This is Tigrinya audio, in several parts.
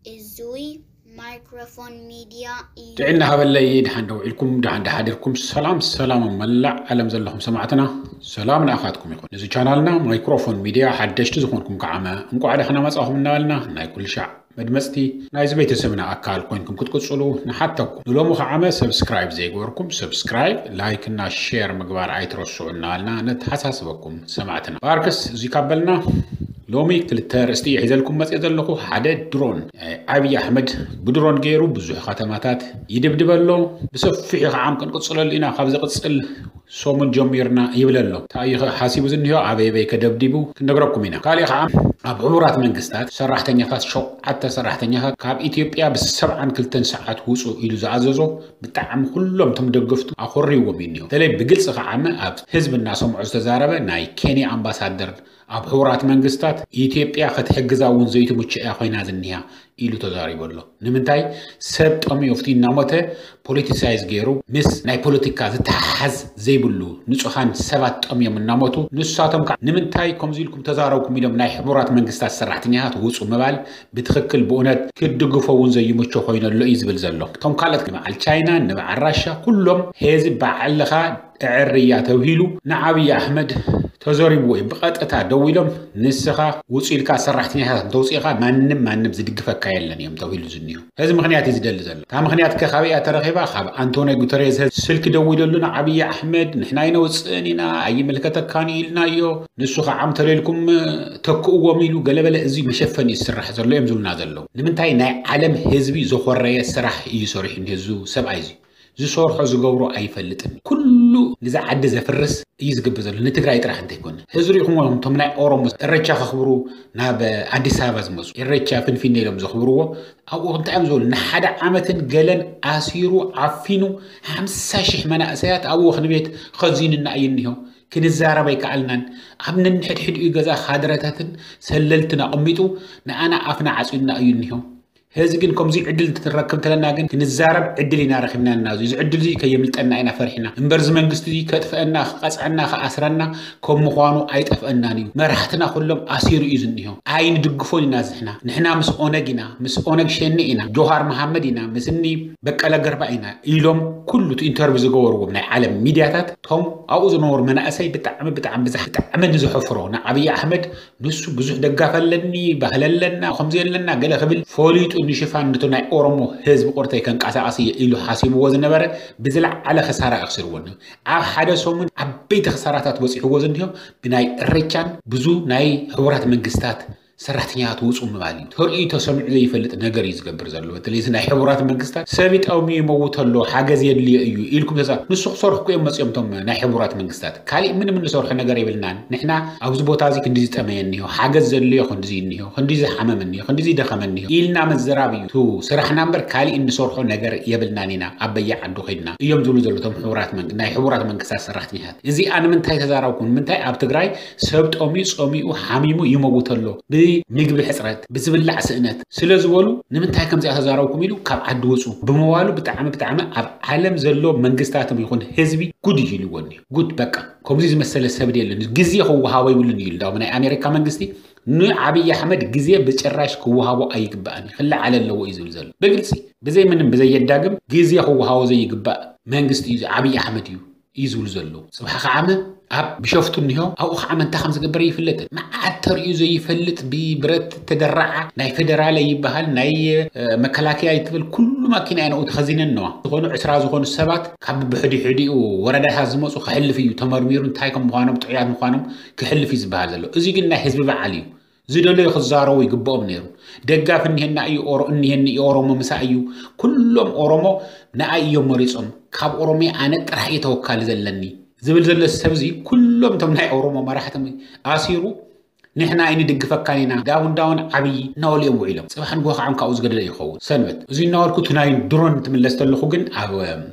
እዙይ ማይክሮፎን ሚድያ እዩ። ጥዕና ሃበለይ። ድሓን ደው ኢልኩም፣ ድሓን ደሓዲርኩም። ሰላም ሰላም፣ ኣብ መላእ ዓለም ዘለኹም ሰማዕትና፣ ሰላም ንኣኻትኩም ይኹን። እዚ ቻናልና ማይክሮፎን ሚድያ ሓደሽቲ ዝኾንኩም ከዓመ እንቋዕ ደሕና መጻኹም እናበልና፣ ናይ ኩሉ ሻዕ መድመፅቲ ናይዚ ቤተሰብና ኣካል ኮይንኩም ክትቅፅሉ ንሓተኩም። ንሎሚ ከዓመ ሰብስክራይብ ዘይገበርኩም ሰብስክራይብ፣ ላይክ እና ሼር ምግባር ኣይትረስዑ እናበልና ነተሓሳስበኩም ሰማዕትና። ባርክስ እዚ ካበልና ሎሚ ክልተ ርእስቲ እየ ሒዘልኩም መፅእ ዘለኹ። ሓደ ድሮን፣ ኣብይ ኣሕመድ ብድሮን ገይሩ ብዙሕ ከተማታት ይድብድበ ኣሎ። ብሰፊሑ ከዓም ክንቅፅለሉ ኢና፣ ካብ ዝቕፅል ሰሙን ጀሚርና ይብል ኣሎ። እንታይ እዩ ሓሲቡ ዝኒሆ? ኣበይ ኣበይ ከደብዲቡ ክንነግረኩም ኢና። ካሊእ ከዓ ኣብ ሕቡራት መንግስታት ሰራሕተኛታት፣ ሸውዓተ ሰራሕተኛታት ካብ ኢትዮጵያ ብሰብዓን ክልተን ሰዓት ውፁ ኢሉ ዝኣዘዞ፣ ብጣዕሚ ኩሎም እቶም ደገፍቱ ኣኮሪዎም እዩ እኒሆ። በተለይ ብግልፂ ከዓመ ኣብ ህዝቢ እናሰምዖ ዝተዛረበ ናይ ኬንያ ኣምባሳደር ኣብ ሕቡራት መንግስታት፣ ኢትዮጵያ ክትሕግዛ እውን ዘይትምቹ እያ ኮይና ዝኒሃ ኢሉ ተዛሪቡ ኣሎ። ንምንታይ ሰብ ጠሚዩ ኣብቲ እናሞተ ፖለቲሳይዝ ገይሩ ምስ ናይ ፖለቲካ ዝተሓሓዝ ዘይብሉ ንጹሃን ሰባት ጠምዮም እናሞቱ፣ ንሳቶም ከዓ ንምንታይ ከምዚ ኢልኩም ተዛረብኩም ኢሎም ናይ ሕቡራት መንግስታት ሰራሕተኛታት ውጹ ምባል ብትኽክል ብእውነት ክትድግፎ እውን ዘይምቹ ኮይኑ ኣሎ እዩ ዝብል ዘሎ። እቶም ካልኦት ንበዓል ቻይና፣ ንበዓል ራሻ ኩሎም ሄዚ በዓልኻ እዕርያ ተብሂሉ ንዓብዪ ኣሕመድ ተዘሪብዎ እዩ። ብቐጥታ ደዊሎም ንስኻ ውጹ ኢልካ ሰራሕተኛታት እንተውፂእኻ ማንም ማንም ዝድግፈካ የለን እዮም ተብሂሉ ዝኒሁ። እዚ ምኽንያት እዩ ዝደሊ ዘሎ። እታ ምኽንያት ከ ካበይ እያ ተረኺባ? ካብ ኣንቶኒ ጉተሬዝ ስልኪ ደዊለሉ ንዓብዪ ኣሕመድ፣ ንሕና ኣይነውፅእን ኢና፣ ኣይምልከተካን እዩ ኢልናዮ። ንሱ ከዓ ዓም ተለልኩም ተክእዎም ኢሉ ገለበለ። እዚ መሸፈኒ እዩ ዝስራሕ ዘሎ እዮም ዝብሉና ዘለዉ። ንምንታይ ናይ ዓለም ህዝቢ ዝኾረየ ስራሕ እዩ ሰሪሑ እኒሆ እዚ ሰብኣይ እዚ። ዝሰርሖ ዝገብሮ ኣይፈልጥን። ኩሉ ንዛ ዓዲ ዘፍርስ እዩ ዝገብር ዘሎ፣ ንትግራይ ጥራሕ እንተይኮነ። እዚ ሪኢኹም እቶም ናይ ኦሮሞ እረቻ ከኽብሩ ናብ ኣዲስ ኣበባ ዝመፁ፣ እረቻ ፍንፊኔ ኢሎም ዘኽብርዎ፣ ኣብኡ እንታይ እዮም ዝበሉ? ንሓደ ዓመትን ገለን ኣሲሩ ዓፊኑ ሓምሳ ሺሕ መናእሰያት ኣብ ወኽኒ ቤት ኸዚኑና እዩ እኒሆ። ክንዛረብ ኣይከኣልናን። ኣብ ነንሕድሕድኡ ገዛ ካድረታትን ሰለልትን ኣቐሚጡ ንኣና ኣፍና ዓፂዩና እዩ እኒሆ። ሕዚ ግን ከምዚ ዕድል እንትንረክብ እንተለና ግን ክንዛረብ ዕድል ኢና ረኺብና ኣለና። እዚ ዕድል እዚ ከየምልጠና ኢና ፈሪሕና። እምበር እዚ መንግስቲ እዚ ከጥፍአና፣ ክቐፅዐና፣ ክኣስረና ከም ምዃኑ ኣይጠፍአናን እዩ። መራሕትና ኩሎም ኣሲሩ እዩ ዝኒሆ። ኣይንድግፎን ኢና ንሕና። ንሕና ምስ ኦነግ ኢና፣ ምስ ኦነግ ሸኔ ኢና፣ ጆሃር መሃመድ ኢና፣ ምስ እኒ በቀለ ገርባ ኢና ኢሎም ኩሉ እቲ ኢንተርቪው ዝገበርዎም ናይ ዓለም ሚድያታት፣ እቶም ኣብኡ ዝነበሩ መናእሰይ ብጣዕሚ፣ ብጣዕሚ ብዛሕ፣ ብጣዕሚ ንዝሐፍሮ ንዓብዪ ኣሕመድ ንሱ ብዙሕ ደጋፊ ኣለኒ፣ ባህሊ ኣለና፣ ከምዚ ኣለና ገለ ክብል ፈሊጡ ንሽፋን ነቲ ናይ ኦሮሞ ህዝቢ ቁርተይ ከንቀሳቐስ እየ ኢሉ ሓሲብዎ ዝነበረ ብዝለዓለ ክሳራ ኣኽሲርዎ እኒሆ። ኣብ ሓደ ሰሙን ዓበይቲ ክሳራታት በፂሕዎ ዝኒሆ ብናይ እሬቻን ብዙ ናይ ሕቡራት መንግስታት ሰራሕተኛታት ውፁ ምባል እዩ። ተርእዩ ተሰሚዑ ዘይፈልጥ ነገር እዩ ዝገብር ዘሎ። በተለይ እዚ ናይ ሕቡራት መንግስታት ሰብ ይጠምዩ ይመውት ኣሎ፣ ሓገዝ የድልዮ እዩ ኢልኩም ተዛ-፣ ንሱ ክሰርሑ እኮ እዮም መፂኦም እቶም ናይ ሕቡራት መንግስታት። ካሊእ ምንም እንሰርሖ ነገር የብልናን። ንሕና ኣብዚ ቦታ እዚ ክንዲ ዝጠመየ እኒሆ፣ ሓገዝ ዘድልዮ ክንዲ እኒሆ፣ ክንዲ ዝሓመም እኒሆ፣ ክንዲ ዝደኸመ እኒሆ ኢልና ምዝራብ እዩ እቲ ስራሕና እምበር ካሊእ እንሰርሖ ነገር የብልናን ኢና። ኣብ በየ ዓዱ ከይድና እዮም ዝብሉ ዘለዉ እቶም ሕቡራት መንግ-፣ ናይ ሕቡራት መንግስታት ሰራሕተኛታት። እዚኣ ንምንታይ ተዛረብኩም? ንምንታይ ኣብ ትግራይ ሰብ ጠምዩ፣ ጸሚኡ፣ ሓሚሙ ይመውት ኣሎ? ብምግቢ ሕጽረት፣ ብዝብላዕ ስእነት ስለ ዝበሉ ንምንታይ ከምዚኣ ተዛረብኩም ኢሉ ካብ ዓዲ ውጹ ብምባሉ ብጣዕሚ፣ ብጣዕሚ ኣብ ዓለም ዘሎ መንግስታትም ይኹን ህዝቢ ጉድ እዩ ኢልዎ እኒሆ። ጉድ በቃ። ከምዚ ዝመሰለ ሰብ የለን። ግዜ ክወሃቦ ይብሉን እዩ። እንዳውም ናይ ኣሜሪካ መንግስቲ ንዓብዪ ኣሕመድ ግዜ ብጭራሽ ክወሃቦ ኣይግባእን እዩ። ክለዓል ኣለዎ እዩ ዝብል ዘሎ። ብግልፂ፣ ብዘይ ምንም፣ ብዘይ የዳግም ግዜ ክወሃቦ ዘይግባእ መንግስቲ እዩ፣ ዓብዪ ኣሕመድ እዩ፣ እዩ ዝብሉ ዘለዉ። ፅባሕ ከዓመ ኣብ ቢሾፍቱ እኒሆ፣ ኣብኡ ከዓመ እንታይ ከም ዝገበረ ይፍለጥን። መዓት ተርእዩ ዘይፈልጥ ብብረት ተደራዓ ናይ ፌደራለ ይበሃል፣ ናይ፣ እ፣ መከላከያ ይትበል፣ ኩሉ ማኪና እየን ኣብኡ ተኸዚነን እነዋ። ዝኾኑ ዕስራ ዝኾኑ ሰባት ካብ ብሕዲሕዲኡ ወረዳታት ዝመፁ ክሕልፍ እዩ ተመርሚሩ፣ እንታይ ከም ምዃኖም፣ ጥዑያት ምዃኖም ክሕልፍ እዩ ዝበሃል ዘሎ። እዚ ግን ናይ ህዝቢ በዓል እዩ። ዝደለዩ ክዛረቡ ይግብኦም ነይሩ። ደጋፊ እኒሀና እዩ፣ ኦሮ-፣ እኒሀኒ እዩ፣ ኦሮሞ ምሳይ እዩ። ኩሎም ኦሮሞ ንኣይ እዮም መሪጾም። ካብ ኦሮሚያ ኣነ ጥራሕ እየ ተወካሊ ዘለኒ ዝብል ዘሎ ሰብ እዚ ኩሎም እቶም ናይ ኦሮሞ መራሕቲ ኣሲሩ ንሕና ኣይንድግፈካን ኢና፣ ዳውን ዳውን ዓብዪ እናበሉ እዮም ውዒሎም። ጽባሕ ንግሆ ከዓ ካብኡ ዝገደደ ይኸውን። ሰንበት እዚ እናበልኩ እቲ ናይ ድሮን ትምለስ ተለኹ ግን ኣብ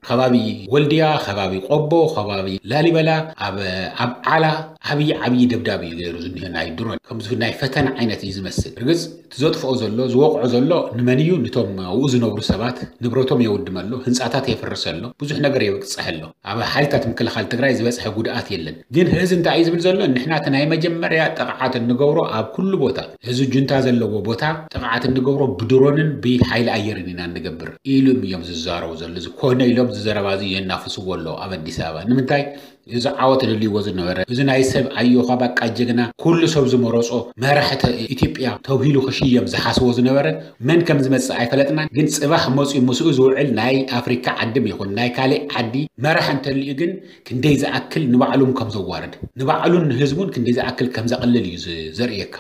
ከባቢ ወልድያ፣ ከባቢ ቆቦ፣ ከባቢ ላሊበላ፣ ኣብ፣ ኣብ ዓላ ዓብዪ ዓብዪ ደብዳብ እዩ ገይሩ ዝኒሆ ናይ ድሮን። ከምዚ ናይ ፈተነ ዓይነት እዩ ዝመስል። ርግጽ እቲ ዘጥፍኦ ዘሎ፣ ዝወቕዖ ዘሎ ንመን እዩ? ንቶም ኣብኡ ዝነብሩ ሰባት ንብረቶም የውድም ኣሎ፣ ህንጻታት የፍርስ ኣሎ፣ ብዙሕ ነገር የብቅጽሕ ኣሎ። ኣብ ሓይልታት ምክልኻል ትግራይ ዝበጽሐ ጉድኣት የለን። ግን ህዚ እንታይ እዩ ዝብል ዘሎ? ንሕና እቲ ናይ መጀመርያ ጥቕዓትን ንገብሮ ኣብ ኩሉ ቦታ፣ እዚ ጁንታ ዘለዎ ቦታ ጥቕዓት እንገብሮ ብድሮንን ብሓይሊ ኣየርን ኢና እንገብር ኢሉ እዮም ዝዛረቡ ዘሎ። እዚ ኮነ ኢሎም እዚ ዘረባ እዚ የናፍስዎ ኣለዉ ኣብ ኣዲስ ኣበባ። ንምንታይ? እዚ ዓወት ደልይዎ ዝነበረ፣ እዚ ናይ ሰብ ኣዮኻ ባቃ ጀግና፣ ኩሉ ሰብ ዝመረጾ መራሒ ተ-፣ ኢትዮጵያ ተብሂሉ ክሽየም ዝሓስቦ ዝነበረ መን ከም ዝመጽእ ኣይፈለጥናን። ግን ጽባሕ መጺኡ ምስኡ ዝውዕል ናይ ኣፍሪካ ዓድም ይኹን ናይ ካልእ ዓዲ መራሕ እንተልዩ ግን ክንደይ ዝኣክል ንባዕሉም ከም ዘዋርድ፣ ንባዕሉን ንህዝቡን ክንደይ ዝኣክል ከም ዘቕልል እዩ ዝ-፣ ዘርእየካ።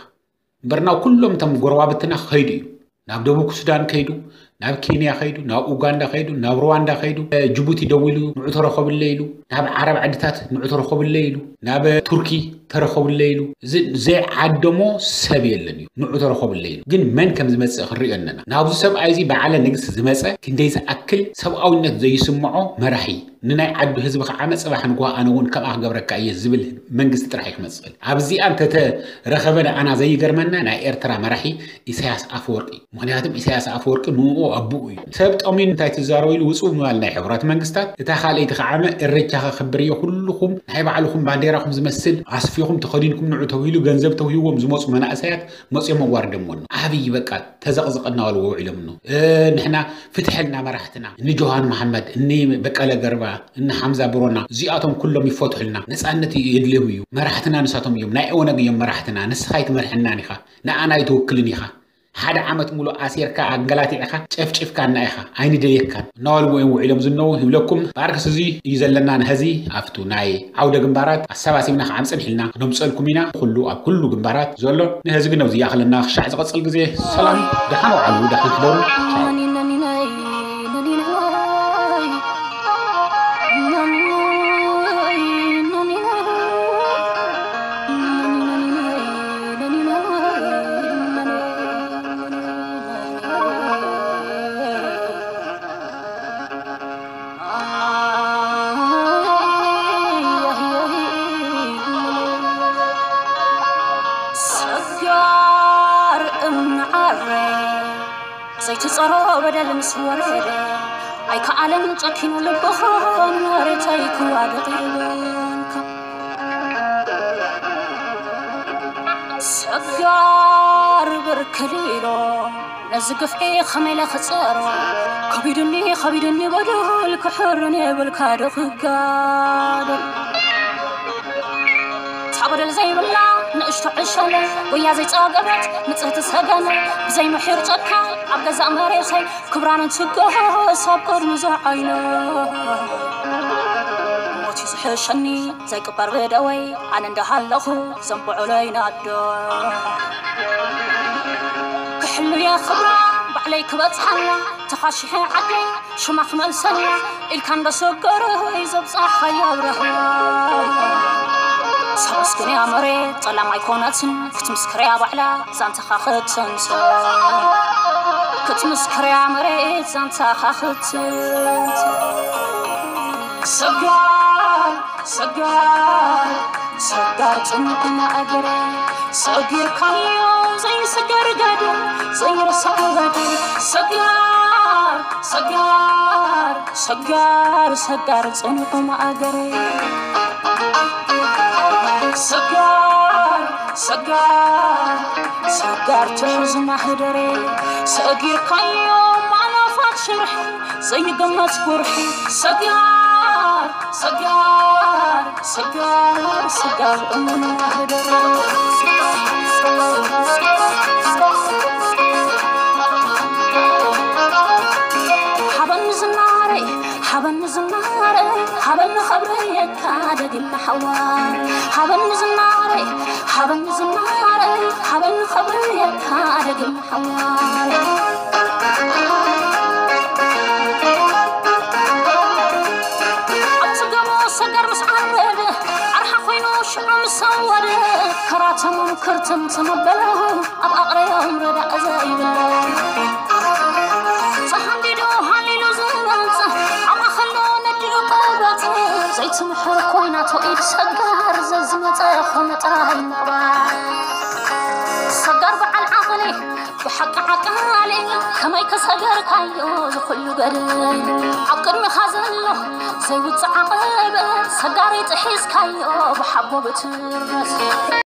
እምበር ናብ ኩሎም እቶም ጎረባብትና ከይዱ እዩ። ናብ ደቡብ ሱዳን ከይዱ፣ ናብ ኬንያ ከይዱ፣ ናብ ኡጋንዳ ከይዱ፣ ናብ ሩዋንዳ ከይዱ፣ ጅቡቲ ደዊሉ ንዑ ተረኸብለይ ኢሉ፣ ናብ ዓረብ ዓድታት ንዑ ተረኸብለይ ኢሉ፣ ናብ ቱርኪ ተረኸብለይ ኢሉ፣ እዚ ዘይዓደሞ ሰብ የለን እዩ። ንዑ ተረኸብለይ ኢሉ። ግን መን ከም ዝመጽእ ክንሪኦ ኣለና። ናብዚ ሰብኣይ እዚ በዓለ ንግስ ዝመጸ ክንደይ ዝኣክል ሰብኣውነት ዘይስምዖ መራሒ፣ ንናይ ዓዱ ህዝቢ ከዓ መጽባሕ ንግሆ ኣነ እውን ከምኣ ክገብረካ እየ ዝብል መንግስቲ ጥራሕ እዩ ክመጽእ። ኣብዚኣ እንተተረኸበ ንኣና ዘይገርመና ናይ ኤርትራ መራሒ ኢሳያስ ኣፈወርቂ። ምኽንያቱም ኢሳያስ ኣፈወርቂ ንኡ ኣቡኡ እዩ። ሰብ ጠሚኑ እንታይ ትዛረቡ ኢሉ ውጹእ ብምባል ናይ ሕቡራት መንግስታት፣ እታ ካልኣይቲ ከዓ እሬቻ ከኽብር እየ፣ ኩልኹም ናይ ባዕልኹም ባንዴራኹም ዝመስል ኣስፊኹም ተኸዲንኩም ንዑ ተባሂሉ ገንዘብ ተውሂዎም ዝመጹ መናእሰያት መጽኦም ኣዋርደምዎ ኣሎ። ዓብዪ በቃ ተዘቕዝቐ እናበሉ ውዒሎም ኣሎ። እ፣ ንሕና ፍትሐልና መራሕትና፣ እኒ ጆሃር መሓመድ፣ እኒ በቀለ ገርባ፣ እኒ ሓምዛ ብሮና፣ እዚኣቶም ኩሎም ይፈትሑልና። ነጻነት የድልዮም እዩ። መራሕትና ንሳቶም እዮም። ናይ ኦነግ እዮም መራሕትና። ንስኻ ኣይትመርሐናን ኢኻ። ንኣና ኣይትውክልን ኢኻ። ሓደ ዓመት ሙሉእ ኣሲርካ፣ ኣንገላቲዕካ፣ ጨፍጭፍካና ኢኻ። ኣይንደልየካን። እናበልዎ እዮም ውዒሎም ዝነዉ ይብለኩም። ብኣርክስ እዚ እዩ ዘለና ንሐዚ ኣብቱ ናይ ዓውደ ግንባራት ኣሰባሲብና ክዓም ጽንሕ ኢልና ክነምጸልኩም ኢና። ኩሉ ኣብ ኩሉ ግንባራት ዘሎ ንሐዚ ግን ኣብዚ ይኣኽለና። ክሻዕ ዝቐጽል ግዜ ሰላም፣ ደሓን ውዓሉ፣ ደሓን ሕደሩ። ቻው። ሰጋር እምኒ ዓረ ዘይትጸሮ በደል ምስ ወረደ ኣይከኣለን ጨኪኑ ልብኻ መሬተይ ክዋደቕ ይበልካ። ሰጋር ብርክል ኢሎ ነዚ ግፍዒ ኸመይ ኢለ ክጸሮ? ከቢዱኒ፣ ከቢዱኒ በደል ክሕርን የብልካ ዶ ክጋደል? እታ በደል ዘይብላ ንእሽቶ ዕሸለ፣ ጉያ ዘይጸገበት ንጽህቲ ሰገነ፣ ብዘይ ምሒር ጨካን ኣብ ገዛእ መሬተይ ክብራን እንትገሃስ ኣብ ቅድሚ ዝዓይነ ሞት እዩ ዝሕሸኒ ዘይቅበር ብደወይ ኣነ እንዳሃለኹ ዘንብዑለይ ናዶ ክሕሉየ ክብራ ባዕለይ ክበጽሓላ ተኻሽሐ ዓደይ ሽማ ክመልሰላ ኢልካ እንዳሰገረ ዘብጻሕ ሓያል ረህዋ ሰበስክንያ መሬት ጠላም ኣይኮነትን ክትምስክርያ ባዕላ ዛንታኻ ክትንትን ክትምስክርያ መሬት ዛንታኻ ክትንትን ሰጋር ሰጋር ሰጋር ጽኑዕ ማእገር ሰጊርካዮ ዘይስገር ገደል ዘይርሳዕ በደል ሰጋር ሰጋር ሰጋር ሰጋር ጽኑዕ ማእገር ሰጋር ሰጋር ሰጋር ትሑዝ ማህደር ሰጊርካዮ ማናፋት ሽርሒ ዘይገመት ጉርሒ ሰጋር ሰጋር ሰጋር ሰጋር እሙን ማህደር ሓበን ዝናረይ ሓበን ዝናረይ ሓበን ኸብረየካ ደግም ሓዋ ሓበን ዝናረይ ሓበን ዝናረይ ሓበን ኸብረየካ ደግም ሓዋ ኣብ ጽገሞ ሰገር ምስ ዓረደ ዓርሓ ኮይኑ ሽዑ ምስ ሰወደ ከራተሞም ክርትምትም ኣበሎ ኣብ ኣቕረዮም ረዳእ ዘይብሎ ተሃንዲዱ ሃሊሉ ዝመጽእ ኣብ ማእኸሎ ነዲኡ ቀበጽ ዘይትምሕር ኮይናቶ ኢድ ሰጋር ዘዝመጸ ኾነ ጥራይ ምቕባል ሰጋር በዓል ዓቕሊ ብሓቂ ዓቃሊ ከመይ ከሰገርካዮ ዝኹሉ ገድል ኣብ ቅድሚኻ ዘሎ ዘይውፅእ ዓቐበት ሰጋሪ ጥሒስካዮ ብሓቦ ብትርበት